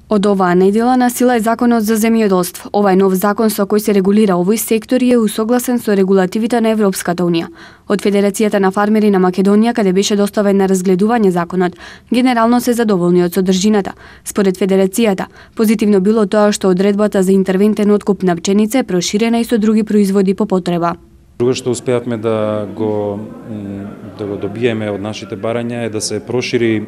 Од оваа недела на сила е Законот за земјоделство. Ова е нов закон со кој се регулира овој сектор и е усогласен со регулативите на Европската унија. Од Федерацијата на фармери на Македонија, каде беше доставен на разгледување законот, генерално се задоволни од содржината. Според Федерацијата, позитивно било тоа што одредбата за интервентен откуп на пченица е проширена и со други производи по потреба. Друго што успеавме да го добиеме од нашите барања е да се прошири.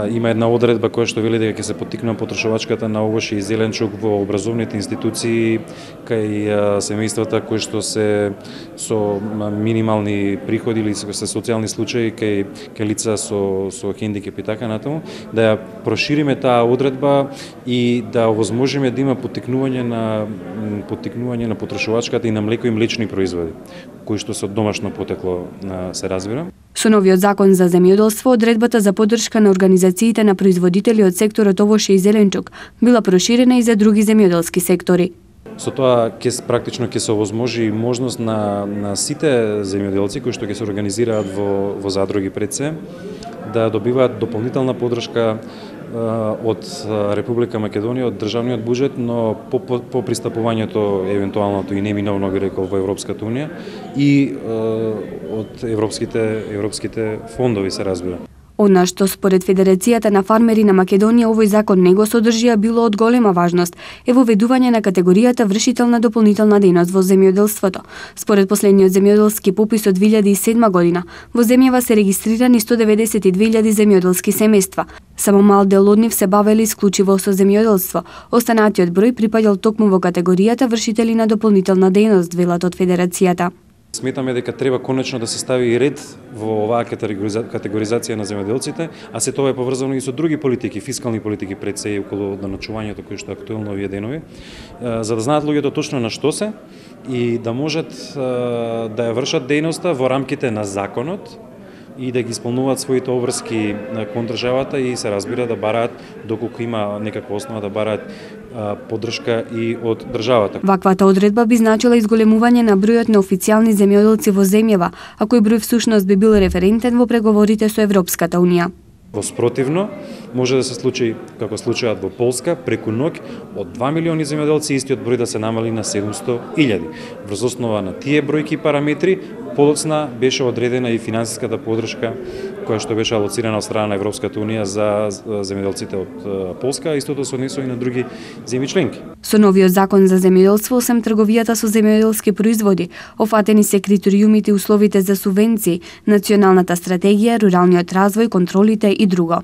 Има една одредба која што вели дека ќе се поттикнува потрошувачката на овоше и зеленчук во образовните институции кај семејствата кои што се со минимални приходи или се социјални случаи кај лица со хендикеп и така натаму, да ја прошириме таа одредба и да овозможиме да има поттикнување на потрошувачката и на млеко и млечни производи кои што се од домашно потекло, се разбира. Со новиот закон за земјоделство, одредбата за поддршка на организациите на производители од секторот овоше и зеленчук била проширена и за други земјоделски сектори. Со тоа практично ќе се овозможи можност на сите земјоделци кои што ќе се организираат во задруги пред се да добиваат дополнителна поддршка од Република Македонија, од државниот буџет, но по пристапувањето евентуалното и неминовно би рекол во Европската унија и од европските фондови се разбира. Она што според Федерацијата на фармери на Македонија овој закон не го содржи, било од голема важност е воведување на категоријата вршител на дополнителна дејност во земјоделството. Според последниот земјоделски попис од 2007 година, во земјава се регистрирани 192.000 земјоделски семејства. Само мал дел од нив се бавели исклучиво со земјоделство. Останатиот број припаѓал токму во категоријата вршители на дополнителна дејност, велат од Федерацијата. Сметаме дека треба конечно да се стави и ред во оваа категоризација на земјоделците, а се тоа е поврзано и со други политики, фискални политики пред се и околу даночувањето кои што е актуелно овие денови, за да знаат луѓето точно на што се и да можат да ја вршат дејноста во рамките на законот и да ги исполнуваат своите обврски кон државата и се разбира да бараат, доколку има некаква основа, да бараат поддршка и од државата. Ваквата одредба би значила изголемување на бројот на официјални земјоделци во земјава, а кој број всушност би бил референтен во преговорите со Европската унија. Воспротивно, може да се случи, како случајот во Полска, преку ноќ од 2 милиони земјоделци истиот број да се намали на 700.000. Врз основа на тие бројки и параметри, подоцна беше одредена и финансиската поддршка која што беше алоцирана од страна на Европската унија за земјоделците од Полска, а истото се однесува и на други земји членки. Со новиот закон за земјоделство, освен трговијата со земјоделски производи, офатени се критериумите и условите за субвенции, националната стратегија, руралниот развој, контролите и друго.